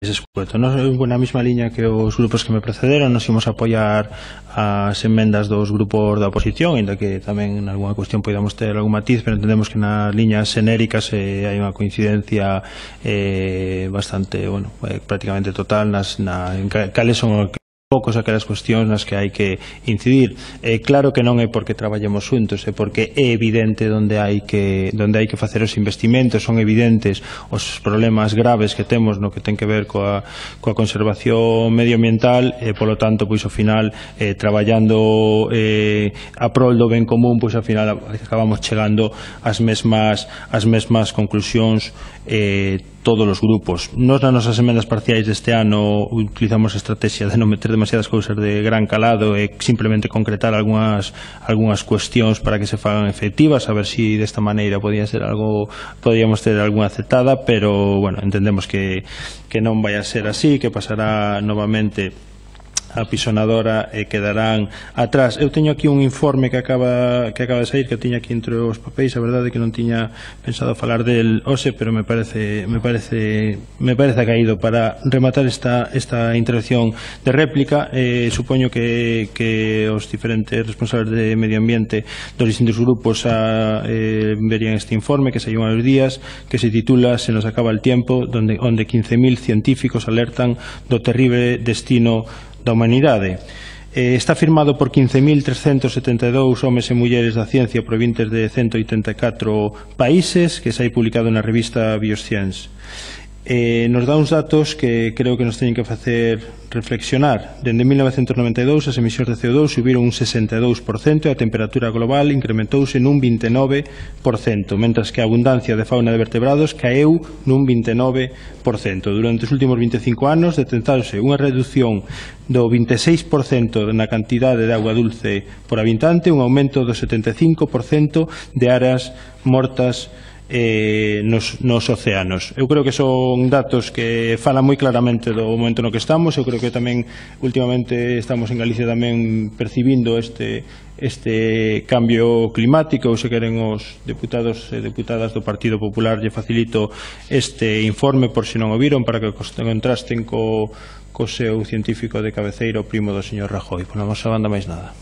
escueto. Nos, na mesma liña que os grupos que me precederon, nos imos apoiar as enmendas dos grupos da oposición, ainda que tamén en algunha cuestión podamos ter algún matiz, pero entendemos que nas liñas xenéricas hai unha coincidencia bastante, bueno, prácticamente total en cales son poucos aquelas cuestións nas que hai que incidir. Claro que non é porque traballemos xuntos, é porque é evidente onde hai que facer os investimentos, son evidentes os problemas graves que temos no que ten que ver coa conservación medioambiental, e polo tanto, pois ao final, traballando a prol do ben común, pois ao final acabamos chegando ás mesmas conclusións todos os grupos. Nos nas nosas emendas parciais deste ano utilizamos a estrategia de non meter demasiadas cousas de gran calado e simplemente concretar algunhas cuestións para que se fagan efectivas, a ver se desta maneira podíamos ter algunha aceptada, pero bueno, entendemos que non vai a ser así, que pasará novamente a pisonadora e quedarán atrás. Eu teño aquí un informe que acaba de sair, que teño aquí entre os papéis, a verdade é que non tiña pensado falar del hoxe, pero me parece caído para rematar esta intervención de réplica. Supoño que os diferentes responsables de medio ambiente dos distintos grupos verían este informe que saiu hai uns días, que se titula "Se nos acaba el tiempo", onde 15.000 científicos alertan do terrible destino da humanidade. Está firmado por 15.372 homes e mulleres da ciencia provenientes de 184 países, que sai publicado na revista Bioscience. Nos dá uns datos que creo que nos teñen que facer reflexionar. Dende 1992 as emisións de CO2 subiron un 62% e a temperatura global incrementouse nun 29%, mentras que a abundancia de fauna de vertebrados caeu nun 29%. Durante os últimos 25 anos detectouse unha reducción do 26% na cantidade de agua dulce por habitante, un aumento do 75% de áreas mortas nos océanos. Eu creo que son datos que falan moi claramente do momento no que estamos. Eu creo que tamén últimamente estamos en Galicia tamén percibindo este cambio climático. Ou se queren os deputados e deputadas do Partido Popular lle facilito este informe por se non o viron, para que contrasten co seu científico de cabeceira, o primo do señor Rajoy. Por a nosa banda máis nada.